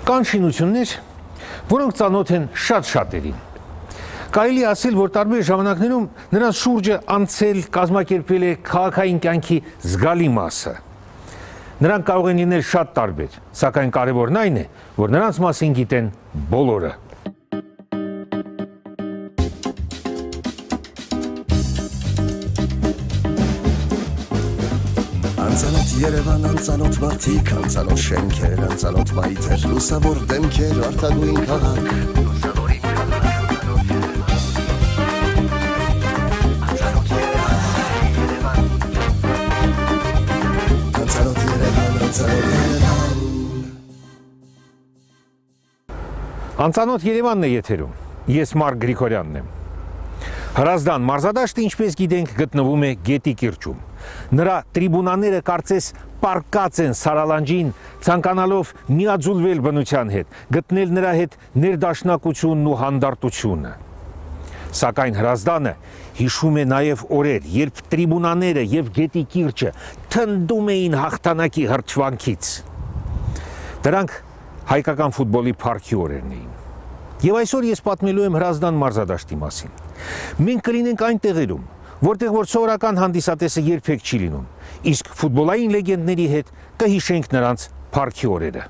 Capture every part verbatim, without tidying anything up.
Կան շինություններ, որոնք ծանոթ են շատ շատերին։ Կարելի է ասել, որ տարբեր ժամանակներում նրանց շուրջը անցել, կազմակերպվել է քաղաքային կյանքի զգալի մասը։ Նրանք կարող են լինել շատ տարբեր, սակայն կարևորն այն է, որ նրանց մասին գիտեն բոլորը։ Անցանոթ Երևան, անցանոթ մարդիկ, անցանոթ շենքեր, անցանոթ մայթեր, լուսավոր դեմքեր, արտագույն քաղաք, լուսավորին քաղաք, անցանոթ Երևան, անցանոթ Երևան։ Անցանոթ Երևանն է եթերում, ես Մարկ Գրիգորյանն եմ։ Հրազդան մարզադաշտը, ինչպես գիտենք, գտնվում է Գետի կիրճում։ Նրա տրիբունաները կարծես պարկած են Սարալանջին, ցանկանալով միաձուլվել բնության հետ, գտնել նրա հետ ներդաշնակությունն ու հանդարտությունը։ Սակայն Հրազդանը հիշում է նաև օրեր, երբ տրիբունաները եւ Գետի կիրճը թնդում էին հաղթանակի հրճվանքից։ Դրանք հայկական ֆուտբոլի փառքի օրերն էին։ Եվ այսօր ես պատմելու եմ Հրազդան մարզադաշտի մասին։ Մենք կլինենք այն տեղերում, որտեղ որ սովորական հանդիսատեսը երբեք չի լինում, իսկ ֆուտբոլային լեգենդների հետ կհիշենք նրանց փառքի օրերը։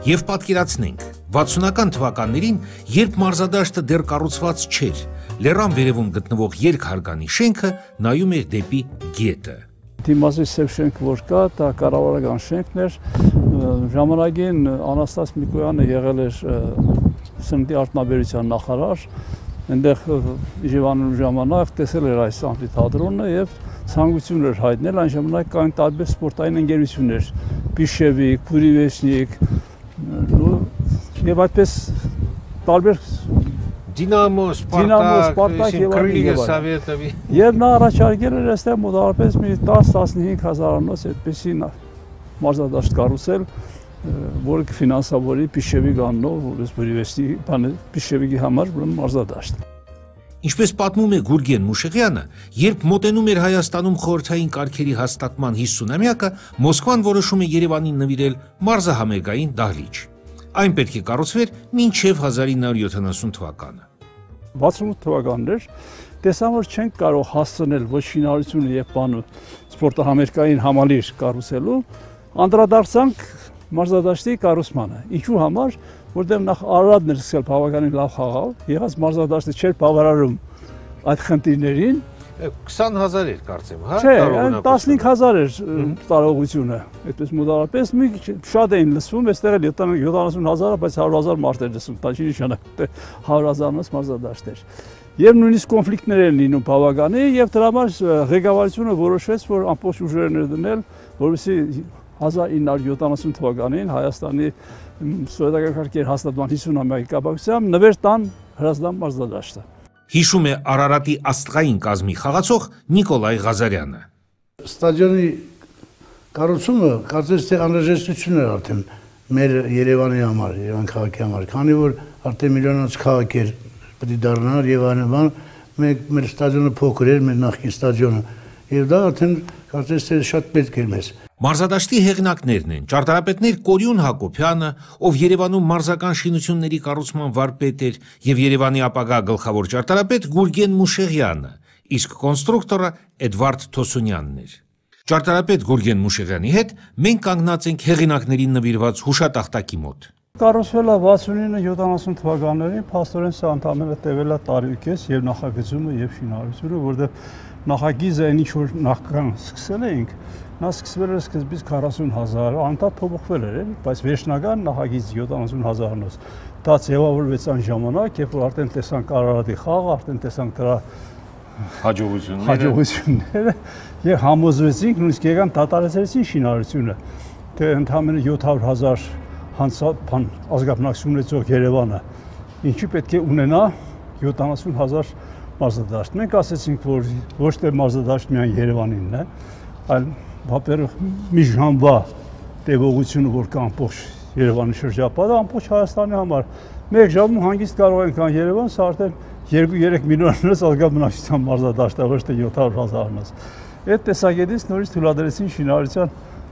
Եվ պատկերացնենք, վաթսունական թվականներին, երբ մարզադաշտը դեռ կառուցված չէր, լեռան վերևում գտնվող երկհարկանի շենքը նայում էր դեպի գետը։ Դիմացի սև շենքը որ կա, դա կառավարական շենքն էր, ժամանակին Անաստաս Միկոյանը եղել էր սննդի արտոնաբերության նախարար, այնտեղ իջևանելու ժամանակ տեսել էր այս ամֆիթատրոնը եւ ցանկություն էր հայտնել, այն ժամանակ կային տարբեր սպորտային ընկերություններ, Բիշևիկ, Փուրիվեշնիկ, եւ այդպես տարբեր Դինամո, Սպարտակ եւ այլն։ Եվ նա առաջարկել էր այստեղ մոտավորապես մի տասը-տասնհինգ հազարանոց այդպեսի մարզադաշտ կառուցել, որը կֆինանսավորի Բիշևիկ անունով, որպես Բուրիվեստի Բիշևիկի համար մարզադաշտ։ Ինչպես պատմում է Գուրգեն Մուշեղյանը, երբ մոտենում էր Հայաստանում խորհրդային կարգերի հաստատման հիսունամյակը, Մոսկվան որոշում է Երևանին նվիրել մարզահամերգային դահլիճ։ Այն պետք է կառուցվեր մինչև հազար ինը հարյուր յոթանասուն թվականը։ վաթսունութ թվականներ տեսան, որ չենք կարող հասցնել ոչ շինարարությունը եւ բանը սպորտահամերգային համալիր կառուցելու, անդրադարձանք մարզադաշտի կառուցմանը։ Ինչու համար, որտեղ նախ Արարատն էր սկսել բավականին լավ խաղալ, եղած մարզադաշտը չէր բավարարում այդ խնդիրներին։ քսան հազար էր կարծեմ, հա? Չէ, տասնհինգ հազար էր տարողությունը, այդպես մոտավորապես մի շատ էին լսվում, այստեղ էլ յոթանասուն հազարը, բայց հարյուր հազար մարդ էր լսվում, դա չի նշանակում, թե հարյուր հազարից մարզադաշտ էր։ Եվ նույնիսկ կոնֆլիկտներ են լինում բավականի, եւ դրա համար ղեկավարությունը որոշեց, որ ամբողջ ուժերն էր դնել, որովհետեւ հազար ինը հարյուր յոթանասուն թվականին Հայաստանի սովետական կարգերի հաստատման հիսունամյակի կապակցությամբ նվեր տան Հրազդան մարզադաշտը։ Հիշում է Արարատի աստղային կազմի խաղացող Նիկոլայ Ղազարյանը։ Ստադիոնի կառուցումը կարծես թե անհրաժեշտություն էր արդեն մեր Երևանի համար, Երևան քաղաքի համար, քանի որ արդեն միլիոնանոց քաղաք էր, պետք է դառնար եւ այլն, մենք մեր ստադիոնը փոքր էր, մեր նախկին ստադիոնը, եւ դա արդեն կարծես թե շատ պետք էր մեզ։ Մարզադաշտի հեղինակներն են ճարտարապետներ Կորյուն Հակոբյանը, ով Երևանում մարզական շինությունների կառուցման վարպետ էր, եւ Երևանի ապագա գլխավոր ճարտարապետ Գուրգեն Մուշեղյանը, իսկ կոնստրուկտորը Էդվարդ Թոսունյանն էր։ Ճարտարապետ Գուրգեն Մուշեղյանի հետ մենք կանգնած ենք հեղինակներին նվիրված հուշատախտակի մոտ։ Կառուցվել է վաթսունինը յոթանասուն թվականներին, փաստորեն սա ընդամենը տևել է տարի ու կես եւ նախագծումը եւ շինարարությունը, որտեղ նախագիծը այն ինչ որ նախքան սկսել էինք, նա սկսվել էր սկզբից քառասուն հազար, անդադ փոփոխվել էր, բայց վերջնական նախագիծը յոթանասուն հազարանոց։ Դա ձևավորվեց այն ժամանակ, երբ որ արդեն տեսանք Արարատի խաղը, արդեն տեսանք դրա հաջողությունները, հաջողությունները եւ համոզվեցինք, նույնիսկ եկան դատարեցրեցին շինարարությունը, թե ընդամենը յոթ հարյուր հազար հանցապան ազգաբնակություն ունեցող Երևանը, ինչի պետք է ունենա յոթանասուն հազար մարզադաշտ։ Մենք ասեցինք, որ ոչ թե մարզադաշտ միայն Երևանինն է, այլ վապերով մի ժամվա տևողությունը, որ կա ամբողջ Երևանի շրջապատը, ամբողջ Հայաստանի համար։ Մեկ ժամում հանգիստ կարող ենք կան Երևան, սա արդեն երկու-երեք միլիոնից ազգաբնակչության մարզադաշտ է, ոչ թե յոթ հարյուր հազարանոց։ Այդ տեսակետից նորից թույլատրեցին շինարարության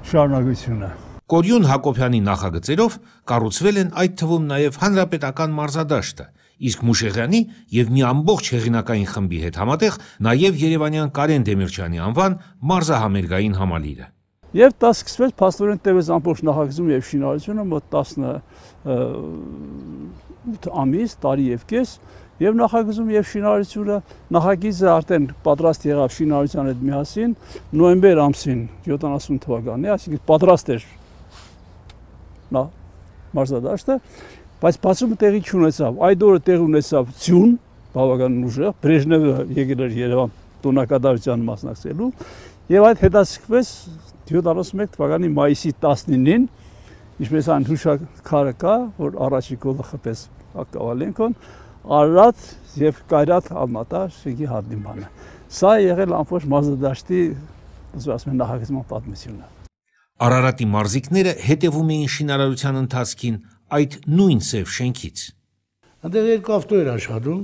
շարունակությունը։ Կորյուն Հակոբյանի նախագծերով կառուցվել են այդ թվում նաև հանրապետական մարզադաշտը, իսկ Մուշեղյանի և մի ամբողջ հեղինակային խմբի հետ համատեղ նաև երևանյան Կարեն Դեմիրճյանի անվան մարզահամերգային համալիրը։ Եվ դա սկսվեց փաստորեն տևեց ամբողջ նախագծում եւ շինարարությունը մոտ տասնութ ամիս, տարի եւ կես, եւ նախագծում եւ շինարարությունը նախագիծը արդեն պատրաստ եղավ շինարարության հետ միասին նոյեմբեր ամսին յոթանասուն թվականին, այսինքն պատրաստ էր նա մարզադաշտը, բայց բացումը տեղի չունեցավ։ Այդ օրը տեղ ունեցավ ձյուն, բավականին ուժեղ, Բրեժնևը եկել էր Երևան տոնակատարության մասնակցելու, եւ այդ հետաձգվեց յոթանասունմեկ թվականի մայիսի տասնինին, ինչպես այն հուշաքարը կա, որ առաջի գոլը խփեց Կավալենկոն, Արարատ եւ Կայրատ Ալմատա շենքի հանդիպանը։ Սա եղել ամբողջ մարզադաշտի, ասում են, նախագծման պատմությունը։ Արարատի մարզիկները հետևում էին շինարարության ընթացքին այդ նույն սև շենքից։ Այնտեղ երկու ավտո էր աշխատում,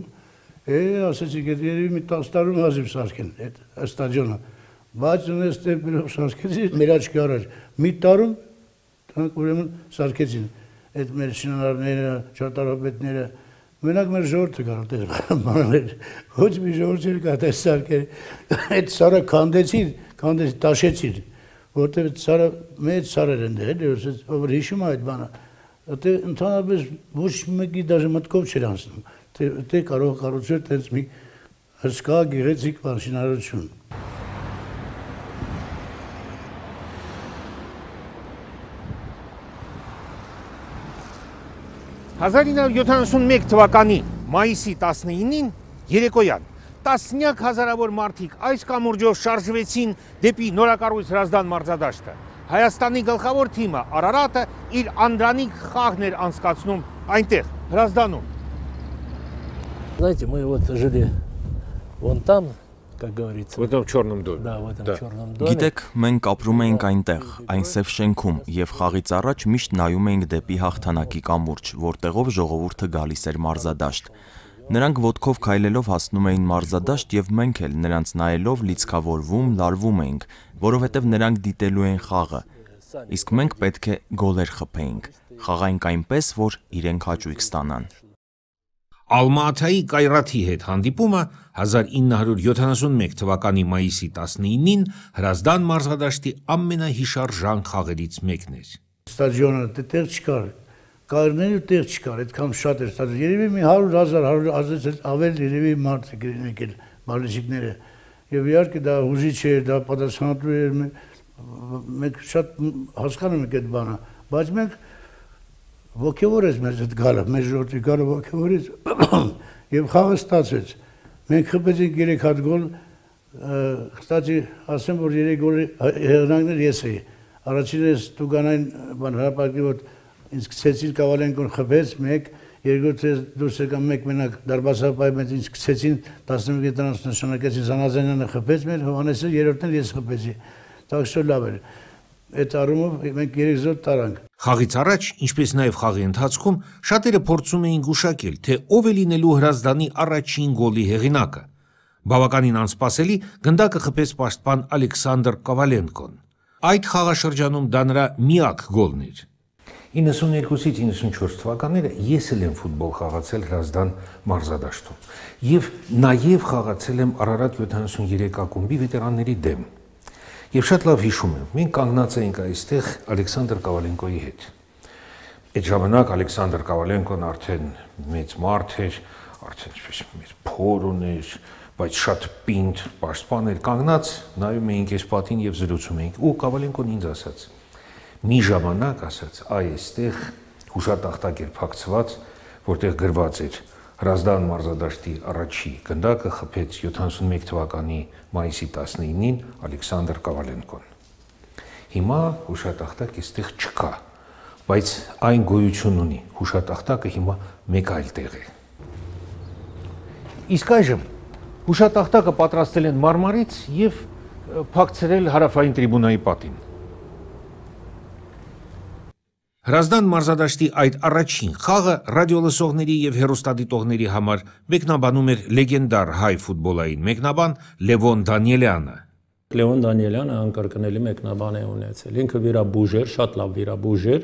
է, ասեցիք, երևի մի տասը տարում հազիվ սարքեն այդ ստադիոնը, բայց ունես տեմպերով սարքեցին, մեր աչքի առաջ մի տարում դրանք ուրեմն սարքեցին այդ մեր շինարարները, ճարտարապետները, մենակ մեր ժողովուրդը կար այդպես բաներ, ոչ մի ժողովուրդ չէր կա այդպես սարքել, այդ սարը քանդեցին, քանդեցին, տաշեցին, որտեղ սարը մեծ սարեր են դեր, ով հիշում է այդ բանը, այդտեղ ընդհանրապես ոչ մեկի դաժե մտքով չէր անցնում, այդտեղ կարող կառուցել տենց մի հսկա գեղեցիկ բան շինարարություն։ հազար ինը հարյուր յոթանասունմեկ թվականի մայիսի տասնինին երեկոյան տասնյակ հազարավոր մարդիկ այս կամուրջով շարժվեցին դեպի նորակառույց Հրազդան մարզադաշտը։ Հայաստանի գլխավոր թիմը Արարատը իր անդրանիկ խաղն էր անցկացնում այնտեղ, Հրազդանում։ Знаете, мы вот жили вон там, как говорится. В этом черном доме. Да, в этом черном доме. Գիտեք, մենք ապրում էինք այնտեղ, այն սև շենքում, եւ խաղից առաջ միշտ նայում էինք դեպի հաղթանակի կամուրջ, որտեղով ժողովուրդը գալիս էր մարզադաշտ։ Նրանք ոտքով քայլելով հասնում էին մարզադաշտ եւ մենք էլ նրանց նայելով լիցքավորվում, լարվում էինք, որովհետեւ նրանք դիտելու են խաղը։ Իսկ մենք պետք է գոլեր խփեինք։ Խաղայինք այնպես, որ իրենք հաճույք ստանան։ Ալմա-Աթայի Կայրաթի հետ հանդիպումը հազար ինը հարյուր յոթանասունմեկ թվականի մայիսի տասնինին Հրազդան մարզադաշտի ամենահիշարժան խաղերից մեկն էր։ Ստադիոնը տեղ չկար, կայրների տեղ չկար, այդքան շատ էր ստադիոն, երևի մի հարյուր հազար, հարյուր հազար ավել երևի մարդ եկել բալեջիկները, եւ իհարկե դա հուզիչ էր, դա պատասխանատու էր, մենք շատ հասկանում ենք այդ բանը, բայց մենք ոգևորեց մեզ այդ գալը, մեր ժողովրդի գալը ոգևորեց եւ խաղը ստացվեց։ Մենք խփեցինք երեք հատ գոլ, կստացի ասեմ, որ երեք գոլի հեղինակներ ես էի։ Առաջինը Տուգանային բան հրապարակի որ ինձ գցեցին Կավալենկոն խփեց, մեկ, երկրորդը դուրս եկան մեկ մենակ դարբասապայի մեծ ինձ գցեցին տասնմեկ տրանց նշանակեցին Զանազանյանը խփեց մեր, Հովհաննեսը երրորդն ես խփեցի։ Տաքսո լավ էր։ Այդ առումով մենք երեք զոտ տարանք։ Խաղից առաջ, ինչպես նաև խաղի ընթացքում, շատերը փորձում էին գուշակել, թե ով է լինելու Հրազդանի առաջին գոլի հեղինակը։ Բավականին անսպասելի գնդակը խփեց պաշտպան Ալեքսանդր Կավալենկոն։ Այդ խաղաշրջանում դա նրա միակ գոլն էր։ իննսուններկուսից իննսունչորս թվականները ես էլ եմ ֆուտբոլ խաղացել Հրազդան մարզադաշտում եւ նաեւ խաղացել եմ Արարատ յոթանասուներեք ակումբի վետերանների դեմ։ Եվ շատ լավ հիշում եմ, մենք կանգնած էինք այստեղ Ալեքսանդր Կավալենկոյի հետ։ Այդ ժամանակ Ալեքսանդր Կավալենկոն արդեն մեծ մարդ էր, արդեն մեր փոր ուներ, բայց շատ պինդ պաշտպան էր, կանգնած նայում էինք այս պատին եւ զրուցում էինք, ու Կավալենկոն ինձ ասաց. մի ժամանակ ասաց, այ այստեղ հուշատախտակ էր փակցված, որտեղ գրված էր Հրազդան մարզադաշտի առաջի գնդակը խփեց յոթանասունմեկ թվականի մայիսի տասնինին Ալեքսանդր Կավալենկոն։ Հիմա հուշատախտակ այստեղ չկա, բայց այն գոյություն ունի, հուշատախտակը հիմա մեկ այլ տեղ է։ Իսկ այժմ հուշատախտակը պատրաստել են մարմարից եւ փակցրել հարավային տրիբունայի պատին։ Հրազդան մարզադաշտի այդ առաջին խաղը ռադիոլսողների եւ հեռուստադիտողների համար մեկնաբանում էր լեգենդար հայ ֆուտբոլային մեկնաբան Լևոն Դանիելյանը։ Լեոն Դանիելյանը անկրկնելի մեկնաբան է ունեցել։ Ինքը վիրաբույժ էր, շատ լավ վիրաբույժ էր,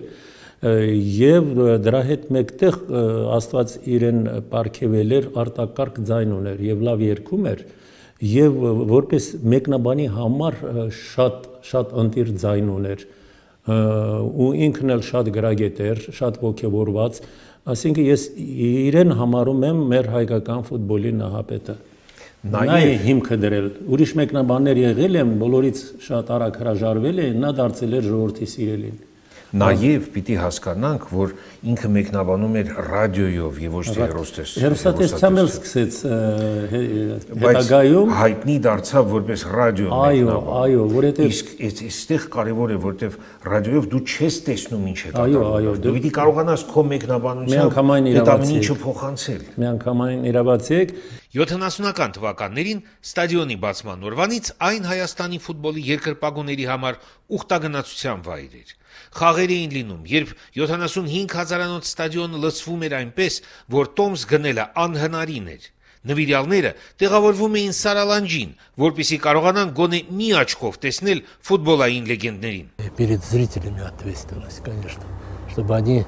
եւ դրա հետ մեկտեղ Աստված իրեն պարգևել էր, արտակարգ ձայն ուներ եւ լավ երգում էր, եւ որպես մեկնաբանի համար շատ շատ ընտիր ձայն ուներ, ու ինքն էլ շատ գրագետ էր, շատ ոգևորված, այսինքն ես իրեն համարում եմ մեր հայկական ֆուտբոլի նահապետը։ Նա է հիմքը դրել, ուրիշ մեկնաբաններ եղել են, բոլորից շատ արագ հրաժարվել են, նա դարձել էր ժողովրդի սիրելին։ Նաև պիտի հասկանանք, որ ինքը մեկնաբանում էր ռադիոյով եւ ոչ թե հեռուստացույցով։ Հեռուստատեսությամբ էլ սկսեց հետագայում հայտնի դարձավ որպես ռադիո մեկնաբան։ Այո, այո, որովհետեւ իսկ այստեղ կարևոր է, որովհետեւ ռադիոյով դու չես տեսնում ինչ է կատարվում։ Այո, այո, դու պիտի կարողանաս քո մեկնաբանությամբ այդ ամեն ինչը փոխանցել։ Միանգամայն իրավացիեք։ յոթանասունական թվականներին ստադիոնի բացման օրվանից այն Հայաստանի ֆուտբոլի երկրպագուների համար ուխտագնացության վայր էր։ Խաղեր էին լինում, երբ յոթանասունհինգ հազարանոց ստադիոնը լցվում էր այնպես, որ տոմս գնելը անհնարին էր։ Նվիրյալները տեղավորվում էին Սարալանջին, որպեսզի կարողանան գոնե մի աչքով տեսնել ֆուտբոլային լեգենդներին։ Перед зрителями ответственность, конечно, чтобы они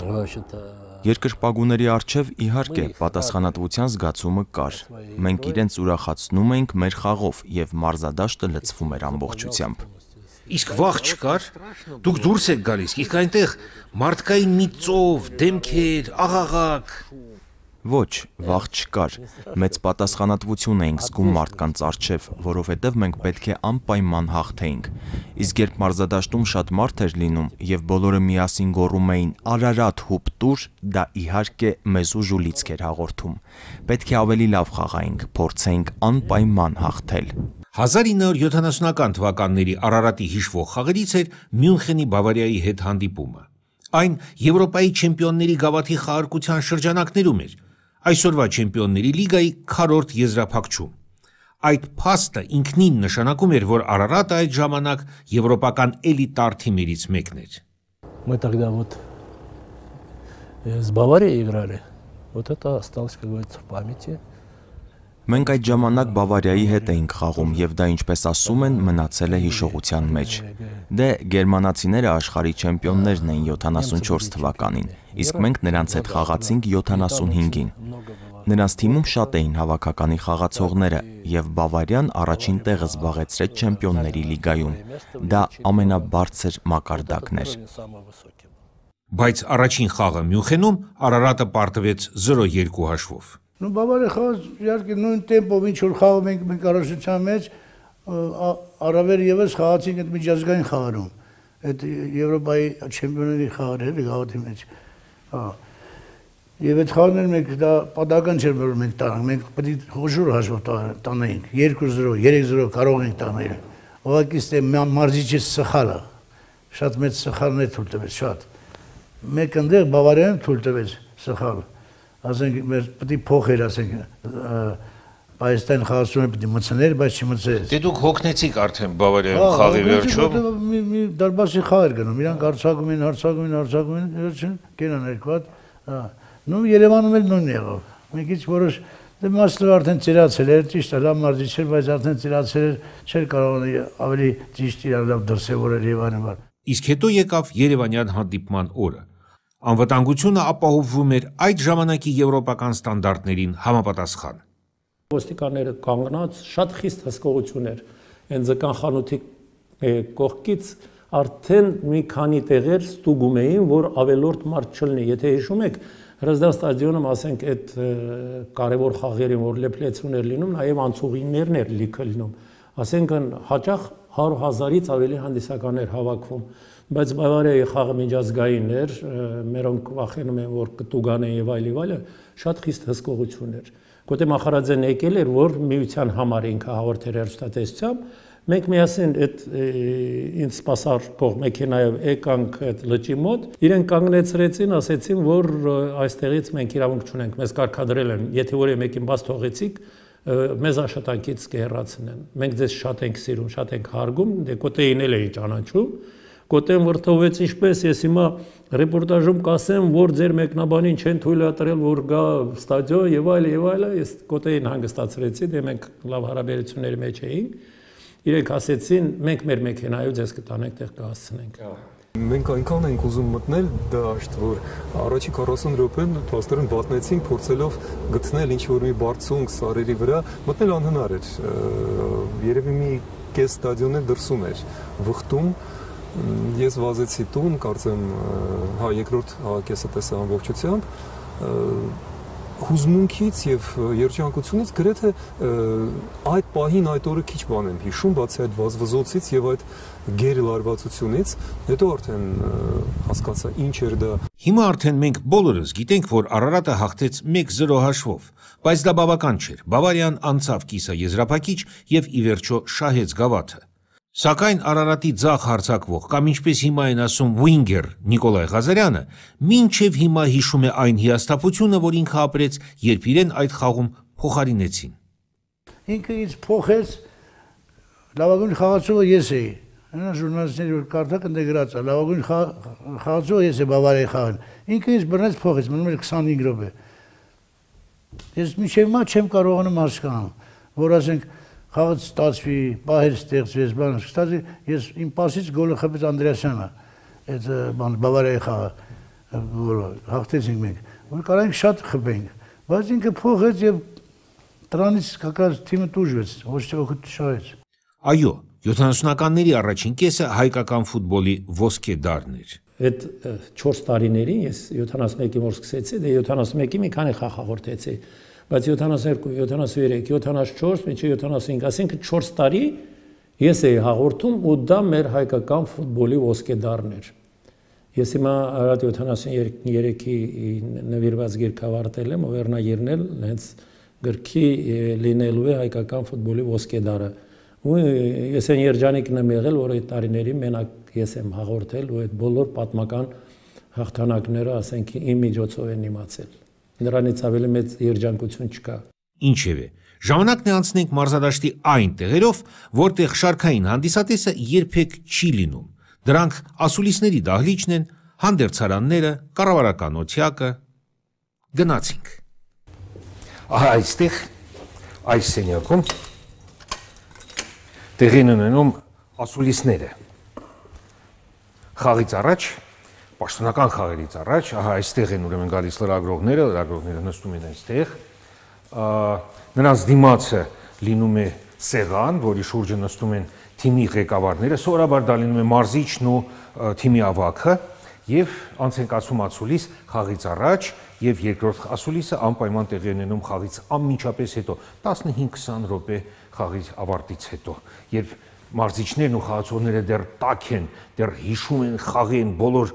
вообще-то Երկրպագուների առջև իհարկե պատասխանատվության զգացումը կար։ Մենք իրենց ուրախացնում էինք մեր խաղով եւ մարզադաշտը լցվում էր ամբողջությամբ։ Իսկ վախ չկար։ Դուք դուրս եք գալիս, իսկ այնտեղ մարդկային մի ծով, դեմքեր, աղաղակ։ Ոչ, վախ չկար։ Մեծ պատասխանատվություն էինք զգում մարդկանց առջև, որովհետև մենք պետք է անպայման հաղթեինք։ Իսկ երբ մարզադաշտում շատ մարդ էր լինում եւ բոլորը միասին գոռում էին «Արարատ հուպ տուր», դա իհարկե մեզ ուժ ու լիցք էր հաղորդում։ Պետք է ավելի լավ խաղայինք, փորձեինք անպայման հաղթել։ հազար ինը հարյուր յոթանասունական թվականների Արարատի հիշվող խաղերից էր Մյունխենի Բավարիայի հետ հանդիպումը։ Այն Եվրոպայի չեմպիոնների գավաթի խաղարկության շրջանակներում էր, այսօրվա չեմպիոնների լիգայի քառորդ եզրափակչում։ Այդ փաստը ինքնին նշանակում էր, որ Արարատը այդ ժամանակ եվրոպական էլիտար թիմերից մեկն էր։ Мы тогда вот с Баварией играли. Вот это осталось, как говорится, в памяти. Մենք այդ ժամանակ Բավարիայի հետ էինք խաղում եւ դա ինչպես ասում են մնացել է հիշողության մեջ։ Դե գերմանացիները աշխարհի չեմպիոններն էին յոթանասունչորս թվականին, իսկ մենք նրանց հետ խաղացինք յոթանասունհինգին։ Նրանց թիմում շատ էին հավաքականի խաղացողները եւ Բավարիան առաջին տեղը զբաղեցրեց չեմպիոնների լիգայում։ Դա ամենաբարձր մակարդակն էր։ Բայց առաջին խաղը Մյունխենում Արարատը պարտվեց զրո երկու հաշվով։ Ну Բավարիա խաղաց իհարկե նույն տեմպով ինչ որ խաղում ենք մենք առաջության մեջ առավել եւս խաղացինք այդ միջազգային խաղերում այդ Եվրոպայի չեմպիոնների խաղերը գավաթի մեջ հա եւ այդ խաղերն մենք դա պատահական չէր որ մենք տանք մենք պետք է խոշոր հաշվով տանեինք երկու զրո երեք զրո կարող ենք տանել ուղղակի ստե մարզիչը սխալը շատ մեծ սխալներ թույլ տվեց շատ մեկ ընդեղ Բավարիան թույլ տվեց սխալ ասենք մեր պետք է փոխեր ասենք Հայաստան խաղացումը պետք է մցներ, բայց չմցրեց։ Դե դուք հոգնեցիք արդեն Բավարիայում խաղի վերջում։ Մի դարբասի խաղ էր գնում, իրանք հարցակում են, հարցակում են, հարցակում են, վերջին կենան երկու հատ։ Հա։ Նու Երևանում էլ նույնն եղավ։ Մենք ինչ որոշ դե մաստը արդեն ծիրացել էր, ճիշտ է, լավ մարզիչ էր, բայց արդեն ծիրացել էր, չէր կարող ավելի ճիշտ իրար լավ դրսևորել Երևանը։ Իսկ հետո եկավ Երևանյան հանդիպման օրը։ Անվտանգությունը ապահովվում էր այդ ժամանակի եվրոպական ստանդարտներին համապատասխան։ Ոստիկանները կանգնած շատ խիստ հսկողություն էր։ Այն ձկան խանութի կողքից արդեն մի քանի տեղեր ստուգում էին, որ ավելորդ մարդ չլինի։ Եթե հիշում եք, Հրազդան ստադիոնում ասենք այդ կարևոր խաղերին, որ լեփլեցուն էր լինում, նաև անցուղիներն էր լիքը լինում։ Ասենք հաճախ հարյուր հազարից ավելի հանդիսականներ հավաքվում, բայց Բավարիայի խաղը միջազգային էր, մերոնք վախենում են, որ կտուգանեն եւ այլ եւ այլը, շատ խիստ հսկողություն էր։ Գոտե Մախարաձեն եկել էր, որ միության համար ինքը հաղորդեր հեռուստատեսությամբ, մենք միասին այդ ինձ սպասարկող մեքենայով եկանք այդ լճի մոտ, իրենք կանգնեցրեցին, ասեցին, որ այստեղից մենք իրավունք չունենք, մեզ կարգադրել են, եթե որևէ մեկին բաց թողեցիք, մեզ աշխատանքից կհեռացնեն։ Մենք ձեզ շատ ենք սիրում, շատ ենք հարգում, դե Կոտեին էլ էին ճանաչում, Կոտեն վրթովեց ինչպես, ես հիմա ռեպորտաժում կասեմ, որ ձեր մեկնաբանին չեն թույլատրել, որ գա ստադիոն եւ այլ եւ այլ, ես Կոտեին հանգստացրեցի, դե մենք լավ հարաբերությունների մեջ էինք։ Իրենք ասեցին, մենք մեր մեքենայով ձեզ կտանենք, տեղ կհասցնենք։ Մենք այնքան ենք ուզում մտնել դաշտ, որ առաջի քառասուն րոպեն փաստորեն վատնեցինք, փորձելով գտնել ինչ-որ մի բարձունք սարերի վրա, մտնել անհնար էր։ Երևի մի կես ստադիոն էլ դրսում էր, վխտում։ Ես վազեցի տուն, կարծեմ, հա երկրորդ հավաքեսը տեսա ամբողջությամբ, հուզմունքից եւ երջանկությունից գրեթե այդ պահին այդ օրը քիչ բան եմ հիշում, բացի այդ վազվզոցից եւ այդ գերլարվածությունից, հետո արդեն հասկացա ինչ էր դա։ Հիմա արդեն մենք բոլորս գիտենք, որ Արարատը հաղթեց մեկ զրո հաշվով, բայց դա բավական չէր։ Բավարիան անցավ կիսաեզրափակիչ եւ ի վերջո շահեց գավաթը։ Սակայն Արարատի ձախ հարձակվող կամ ինչպես հիմա են ասում Վինգեր Նիկոլայ Ղազարյանը մինչև հիմա հիշում է այն հիասթափությունը, որ ինքը ապրեց, երբ իրեն այդ խաղում փոխարինեցին։ Ինքը ինձ փոխեց, լավագույն խաղացողը ես էի։ Նա ժուրնալիստների որ կարդակ ընդ գրած է, լավագույն խաղացողը ես եմ Բավարիայի խաղին։ Ինքը ինձ բռնեց փոխեց, մնում էր քսանհինգ րոպե։ Ես մինչև հիմա չեմ կարողանում հասկանալ, որ ասենք խաղը ստացվի, պահեր ստեղծվեց, բան ստացվի, ես իմ պասից գոլը խփեց Անդրեասյանը, այդ բան Բավարիայի խաղը, որ հաղթեցինք մենք, որ կարանք շատ խփենք, բայց ինքը փոխեց եւ դրանից կակած թիմը տուժվեց, ոչ թե օգուտ շահեց։ Այո, յոթանասունականների առաջին կեսը հայկական ֆուտբոլի ոսկե դարն էր։ Այդ չորս տարիներին ես յոթանասունմեկի որ սկսեցի, դե յոթանասունմեկի մի քանի խաղ հաղորդեցի, բայց յոթանասունհերկու, յոթանասունհրեք, յոթանասունչորս, մինչև յոթանասունհինգ, ասենք չորս տարի ես էի հաղորդում ու դա մեր հայկական ֆուտբոլի ոսկե դարն էր։ Ես հիմա Արարատ յոթանասունհերեքի նվիրված գիրք ավարտել եմ ու վերնագիրն էլ հենց գրքի լինելու է հայկական ֆուտբոլի ոսկե դարը։ Ու ես այն երջանիկն եմ եղել, որ այդ տարիներին մենակ ես եմ հաղորդել ու այդ բոլոր պատմական հաղթանակները, ասենք, իմ միջոցով են իմացել։ Նրանից ավելի մեծ երջանկություն չկա։ Ինչևէ, ժամանակն է անցնենք մարզադաշտի այն տեղերով, որտեղ շարքային հանդիսատեսը երբեք չի լինում։ Դրանք ասուլիսների դահլիճն են, հանդերձարանները, կառավարական օթյակը։ Գնացինք։ Ահա այստեղ, այս սենյակում տեղի են ունենում ասուլիսները։ Խաղից առաջ, պաշտոնական խաղերից առաջ, ահա այստեղ են ուրեմն գալիս լրագրողները, լրագրողները նստում են այստեղ, նրանց դիմացը լինում է սեղան, որի շուրջը նստում են թիմի ղեկավարները, սովորաբար դա լինում է մարզիչն ու թիմի ավագը, եւ անց են կացում ասուլիս խաղից առաջ եւ երկրորդ ասուլիսը անպայման տեղի ունենում խաղից անմիջապես հետո տասնհինգ քսան րոպե խաղի ավարտից հետո, երբ մարզիչներն ու խաղացողները դեռ տաք են, դեռ հիշում են խաղի են բոլոր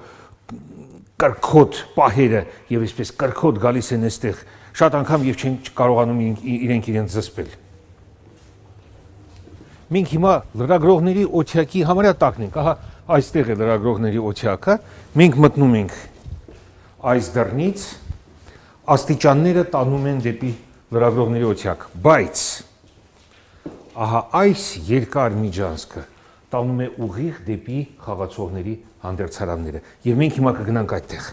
կրքոտ պահերը եւ այսպես կրքոտ գալիս են այստեղ, շատ անգամ եւ չեն կարողանում իրենք իրենց զսպել։ Մենք հիմա լրագրողների օթյակի համարյա տակն ենք, ահա այստեղ է լրագրողների օթյակը, մենք մտնում ենք այս դռնից, աստիճանները տանում են դեպի լրագրողների օթյակ, բայց ահա այս երկար միջանցքը տանում է ուղիղ դեպի խաղացողների հանդերձարանները եւ մենք հիմա կգնանք այդտեղ։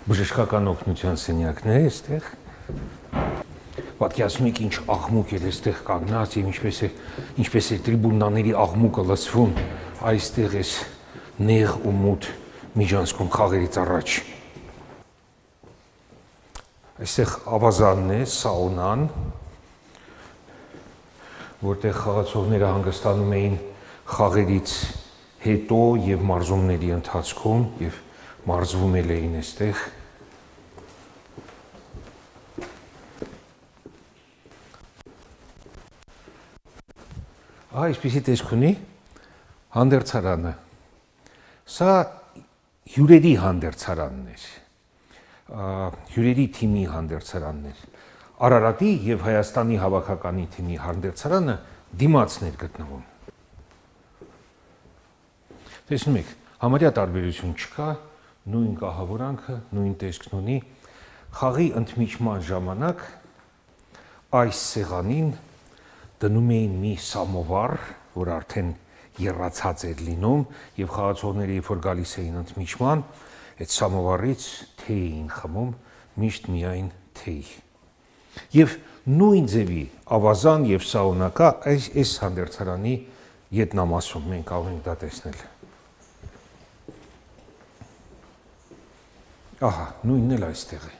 Բժշկական օգնության սենյակն է այստեղ։ Պատկերացնում եք ինչ աղմուկ է այստեղ կանգնած եւ ինչպես է ինչպես է տրիբունաների աղմուկը լսվում այստեղ էս նեղ ու մութ միջանցքում խաղերից առաջ։ Այստեղ ավազանն է, սաունան, որտեղ խաղացողները հանգստանում էին խաղերից հետո եւ մարզումների ընթացքում եւ մարզվում էին այստեղ։ Ահա այսպիսի տեսք ունի հանդերձարանը։ Սա հյուրերի հանդերձարանն էր, հյուրերի թիմի հանդերձարանն էր։ Արարատի եւ Հայաստանի հավաքականի թիմի հանդերձարանը դիմացն էր գտնվում։ Տեսնում եք, համարյա տարբերություն չկա, նույն կահավորանքը, նույն տեսքն ունի։ Խաղի ընդմիջման ժամանակ այս սեղանին դնում էին մի սամովար, որ արդեն եռացած էր լինում, եւ խաղացողները երբ որ գալիս էին ընդմիջման, այդ սամովարից թեյ էին խմում, միշտ միայն թեյ։ Եվ նույն ձևի ավազան եւ սաունակա այս այս հանդերձարանի ետնամասում մենք կարող ենք դա տեսնել։ Ահա, նույնն էլ այստեղ է։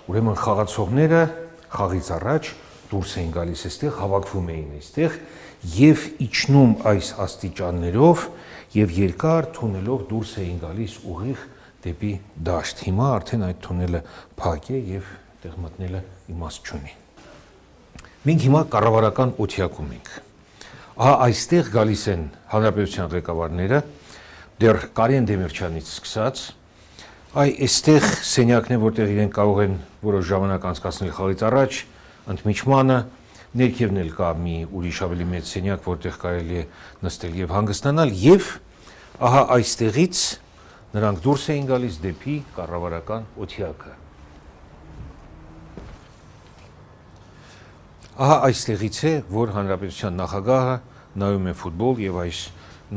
Ուրեմն խաղացողները խաղից առաջ դուրս էին գալիս այստեղ, հավաքվում էին այստեղ եւ իջնում այս աստիճաններով եւ երկար թունելով դուրս էին գալիս ուղիղ դեպի դաշտ։ Հիմա արդեն այդ թունելը փակ է եւ այդտեղ մտնելը իմաստ չունի։ Մենք հիմա կառավարական օթյակում ենք։ Ահա այստեղ գալիս են հանրապետության ղեկավարները, դեռ Կարեն Դեմիրճյանից սկսած, այ այստեղ սենյակն է, որտեղ իրենք կարող են որոշ ժամանակ անցկացնել խաղից առաջ, ընդմիջմանը, ներքևն էլ կա մի ուրիշ ավելի մեծ սենյակ, որտեղ կարելի է նստել եւ հանգստանալ, եւ ահա այստեղից նրանք դուրս էին գալիս դեպի կառավարական օթյակը։ Ահա այստեղից է, որ հանրապետության նախագահը նայում է ֆուտբոլ եւ այս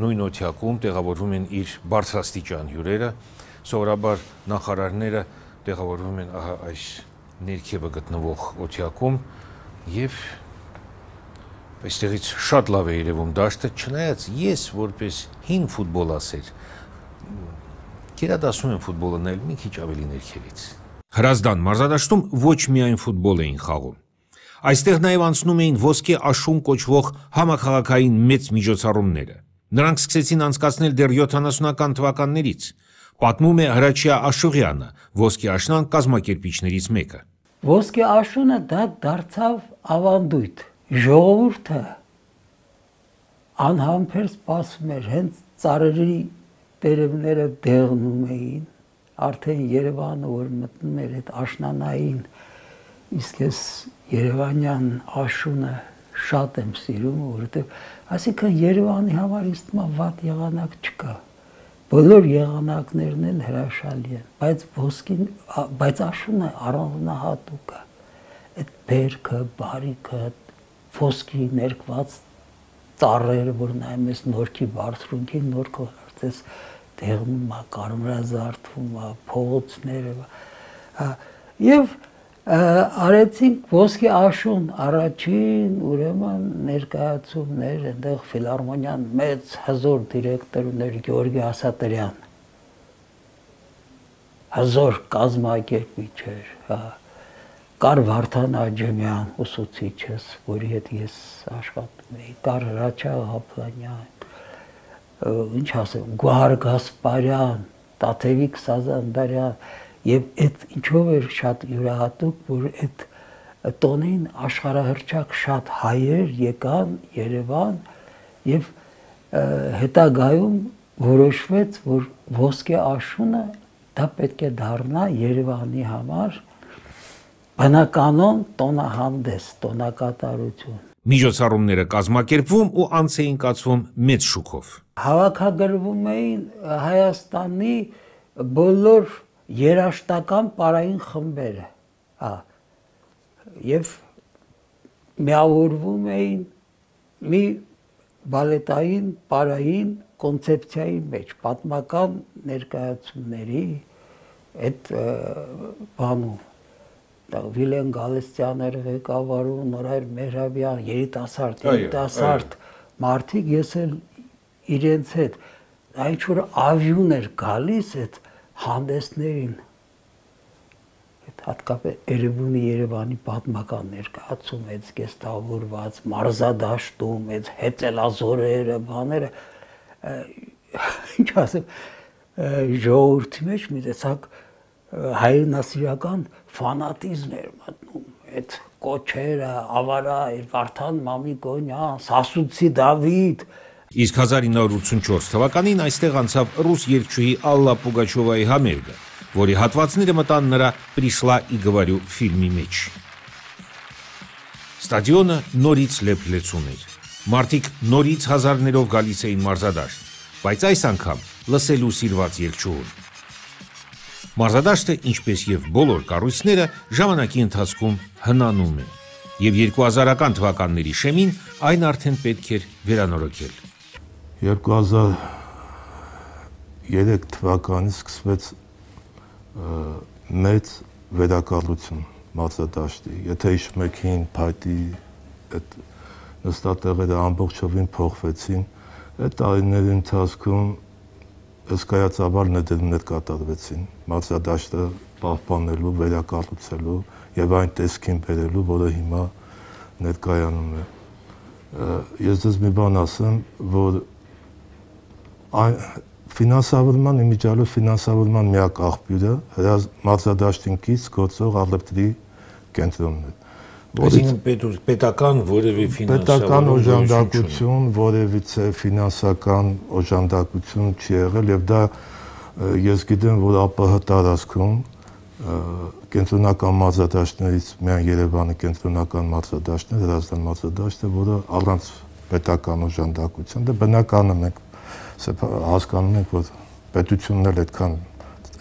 նույն օթյակում տեղավորվում են իր բարձրաստիճան հյուրերը, սովորաբար նախարարները տեղավորվում են ահա այս ներքևը գտնվող օթյակում եւ այստեղից շատ լավ է երևում դաշտը, չնայած ես որպես հին ֆուտբոլասեր գերադասում եմ ֆուտբոլը նայել մի քիչ ավելի ներքևից։ Հրազդան մարզադաշտում ոչ միայն ֆուտբոլ էին խաղում։ Այստեղ նաև անցնում էին ոսկե աշուն կոչվող համաքաղաքային մեծ միջոցառումները։ Նրանք սկսեցին անցկացնել դեռ յոթանասունական թվականներից։ Պատմում է Հրաչյա Աշուղյանը, ոսկե աշնան կազմակերպիչներից մեկը։ Ոսկե աշունը դա դարձավ ավանդույթ։ Ժողովուրդը անհամբեր սպասում էր, հենց ծառերի տերևները դեղնում էին, արդեն Երևանը որ մտնում էր այդ աշնանային, իսկ ես Երևանյան աշունը շատ եմ սիրում, որովհետև այսինքն Երևանի համար ինձ թվում է վատ եղանակ չկա։ Բոլոր եղանակներն էլ հրաշալի են, բայց ոսկին, բայց աշունը առանձնահատուկ է։ Այդ բերքը, բարիքը, ոսկի ներկված ծառերը, որ նայում ես նորքի բարձրունքին, նորքը արդես դեղնում է, կարմրազարդվում է, փողոցները, եւ արեցինք ոսկի աշուն առաջին ուրեմն ներկայացումներ, այնտեղ ֆիլհարմոնիան մեծ հզոր դիրեկտոր ուներ Գեորգի Ասատրյան, հզոր կազմակերպիչ էր, կար Վարդան Աջեմյան, ուսուցիչս, որի հետ ես աշխատում էի, կար Հրաչյա Ղափլանյան, ինչ ասեմ, Գոհար Գասպարյան, Տաթևիկ Սազանդարյան, եւ այդ ինչով էր շատ յուրահատուկ, որ այդ տոնին աշխարհահռչակ շատ հայեր եկան Երևան եւ հետագայում որոշվեց, որ ոսկե աշունը դա պետք է դառնա Երևանի համար բնականon տոնահանդես, տոնակատարություն։ Միջոցառումները կազմակերպվում ու անց էին կացվում մեծ շուկով։ Հավաքագրվում էին Հայաստանի բոլոր երաշտական պարային խմբերը, եւ միավորվում էին մի բալետային պարային կոնցեպցիայի մեջ, պատմական ներկայացումների այդ բանում, Վիլեն Գալստյան էր ղեկավարում, Նորայր Մեհրաբյան, երիտասարդ, երիտասարդ մարդիկ, ես էլ իրենց հետ, այն ինչ որ ավյուն էր գալիս այդ հանդեսներին, հատկապես Էրեբունի Երևանի պատմական ներկայացում, այդ զգեստավորված մարզադաշտում, այդ հեծելազորերը, բաները, ինչ ասեմ, ժողովրդի մեջ մի տեսակ հայրենասիրական ֆանատիզմ էր մտնում, այդ կոչերը, ավարա, Վարդան Մամիկոնյան, Սասունցի Դավիթ։ Իսկ հազար ինը հարյուր ութսունչորս թվականին այստեղ անցավ ռուս երգչուհի Ալլա Պուգաչովայի համերգը, որի հատվածները մտան նրա «Պրիշլա ի գվարյու» ֆիլմի մեջ։ Ստադիոնը նորից լեփլեցուն էր։ Մարդիկ նորից հազարներով գալիս էին մարզադաշտ, բայց այս անգամ լսելու սիրված երգչուհուն։ Մարզադաշտը, ինչպես եւ բոլոր կառույցները, ժամանակի ընթացքում հնանում է։ եւ երկու հազարական թվականների շեմին այն արդեն պետք էր վերանորոգել։ երկու հազար երեք թվականից սկսվեց մեծ վերակառուցում մարզադաշտի։ Եթե հիշում եք հին փայտի այդ նստատեղերը ամբողջովին փոխվեցին, այդ տարիների ընթացքում հսկայածավալ ներդրումներ կատարվեցին մարզադաշտը պահպանելու, վերակառուցելու եւ այն տեսքին բերելու, որը հիմա ներկայանում է։ Ես դες մի բան ասեմ, որ այն ֆինանսավորման իմիջիալով ֆինանսավորման միակ աղբյուրը մարզադաշտին կից գործող առևտրի կենտրոնն է։ Այսինքն պետական որևէ պետական օժանդակություն, որևիցե ֆինանսական օժանդակություն չի եղել եւ դա ես գիտեմ, որ ԱՊՀ տարածքում կենտրոնական մարզադաշտներից միայն Երևանի կենտրոնական մարզադաշտն է, Հրազդան մարզադաշտը, որը առանց պետական օժանդակության, դա բնական է, մենք հասկանում ենք, որ պետությունն էլ այդքան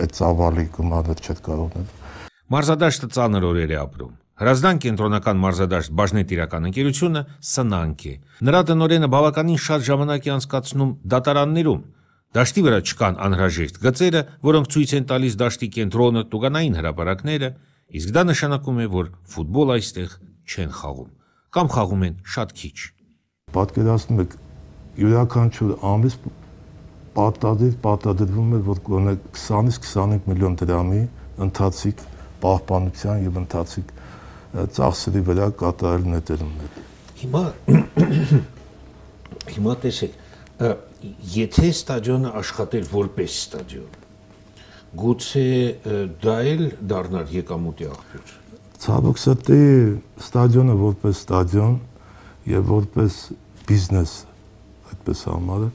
այդ ծավալի գումարներ չէ կարող։ Մարզադաշտը ծանր օրեր է ապրում։ Հրազդան կենտրոնական մարզադաշտ բաժնետիրական ընկերությունը սնանկ է։ Նրա տնօրենը բավականին շատ ժամանակ է անցկացնում դատարաններում։ Դաշտի վրա չկան անհրաժեշտ գծերը, որոնք ցույց են տալիս դաշտի կենտրոնը, տուգանային հրապարակները, իսկ դա նշանակում է, որ ֆուտբոլ այստեղ չեն խաղում կամ խաղում են շատ քիչ։ Պատկերացնում եք, յուրաքանչյուր ամիս պարտադիր պարտադրվում է, որ գոնե քսանից քսանհինգ միլիոն դրամի ընթացիկ պահպանության եւ ընթացիկ ծախսերի վրա կատարել ներդրումներ։ Հիմա հիմա տեսեք, եթե ստադիոնը աշխատեր որպես ստադիոն, գուցե դա էլ դառնար եկամուտի աղբյուր։ Ցավոք սրտի ստադիոնը որպես ստադիոն եւ որպես բիզնես այդպես համարը,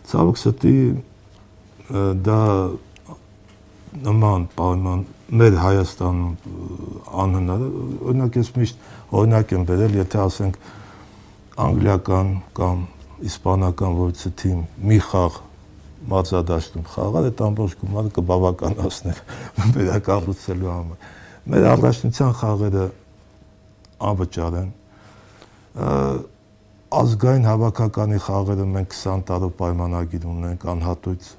ցավոք սրտի դա նման պայման մեր Հայաստանում անհնար է, օրինակ ես միշտ օրինակ եմ բերել, եթե ասենք անգլիական կամ իսպանական որևէ թիմ մի խաղ մարզադաշտում խաղալ, այդ ամբողջ գումարը կբավականացներ վերակառուցելու համար։ Մեր առաջնության խաղերը անվճար են։ Ազգային հավաքականի խաղերը մենք քսան տարով պայմանագիր ունենք, անհատույց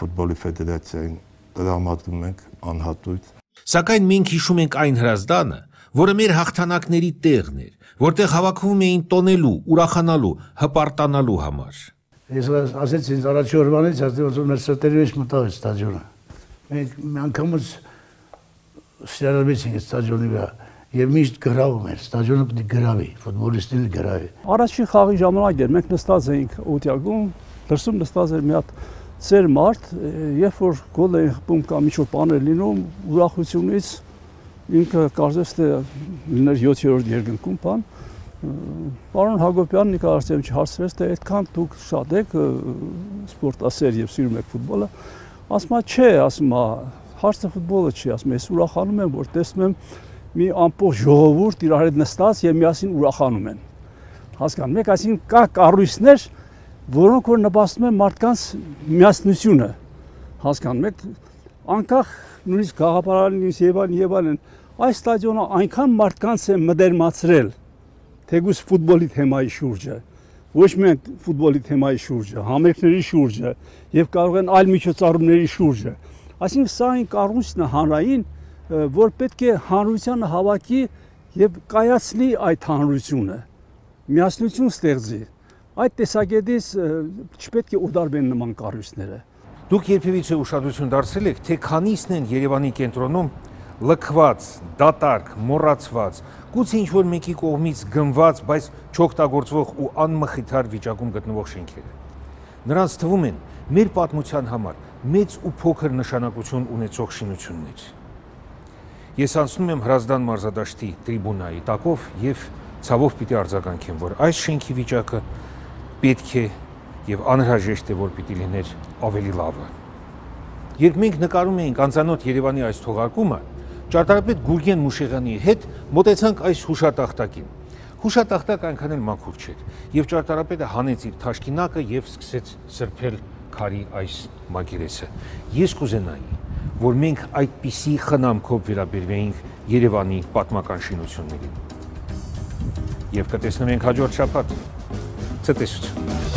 ֆուտբոլի ֆեդերացիային տրամադրում ենք անհատույց։ Սակայն մենք հիշում ենք այն Հրազդանը, որը մեր հաղթանակների տեղն էր, որտեղ հավաքվում էին տոնելու, ուրախանալու, հպարտանալու համար։ Ես ասեցի ինձ առաջի օրվանից, ասեցի մեր սրտերի մեջ մտավ է ստադիոնը։ Մենք անգամից սիրալեցինք ստադիոնի վրա եւ միշտ գրավում էր, ստադիոնը պետք է գրավի, ֆուտբոլիստին գրավի։ Առաջին խաղի ժամանակ էր, մենք նստած էինք Օտյակում, դրսում նստած էր մի հատ ծեր մարդ, երբ որ գոլ էին խփում կամ ինչ-որ բաներ լինում, ուրախությունից ինքը կարծես թե լիներ յոթերորդ երկնքում բան, պարոն Հակոբյանն Նիկոլ Արտեմովիչ հարցրեց, թե այդքան դուք շատ եք սպորտասեր եւ սիրում եք ֆուտբոլը, ասում է, չէ, ասում է, հարցը ֆուտբոլը չի, ասում է, ես ուրախանում եմ, որ տեսնում եմ մի ամբողջ ժողովուրդ իրար հետ նստած եւ միասին ուրախանում են։ Հասկանում եք, այսինքն կա կառույցներ, որոնք որ նպաստում են մարդկանց միասնությունը, հասկանում եք, անկախ նույնիսկ գաղափարալից եւ այլն եւ այլն, այս ստադիոնը այնքան մարդկանց է մդերմացրել, թեկուզ ֆուտբոլի թեմայի շուրջը, ոչ միայն ֆուտբոլի թեմայի շուրջը, համերգների շուրջը եւ կարող են այլ միջոցառումների շուրջը։ Այսինքն սա այն կառույցն է հանրային, որ պետք է հանրությանը հավաքի եւ կայացնի այդ հանրությունը, միասնություն ստեղծի։ Այդ տեսակետից չպետք է ուդարվեն նման կառույցները։ Դուք երբևիցե ուշադրություն դարձրել եք, թե քանիսն են Երևանի կենտրոնում լքված, դատարկ, մոռացված, գուցե ինչ-որ մեկի կողմից գնված, բայց չօգտագործվող ու անմխիթար վիճակում գտնվող շենքերը։ Նրանց թվում են մեր պատմության համար մեծ ու փոքր նշանակություն ունեցող շինություններ։ Ես անցնում եմ Հրազդան մարզադաշտի տրիբունայի տակով եւ ցավով պիտի արձագանքեմ, որ այս շենքի վիճակը պետք է եւ անհրաժեշտ է, որ պիտի լիներ ավելի լավը։ Երբ մենք նկարում էինք անծանոթ Երևանի այս թողարկումը, ճարտարապետ Գուրգեն Մուշեղյանի հետ մոտեցանք այս հուշատախտակին։ Հուշատախտակը այնքան էլ մաքուր չէր, եւ ճարտարապետը հանեց իր թաշկինակը եւ սկսեց սրբել քարի այս մակերեսը։ Ես կուզենայի, որ մենք այդպիսի խնամքով վերաբերվեինք Երևանի պատմական շինություններին։ եւ կտեսնենք հաջորդ շաբաթ։ Ցտեսություն։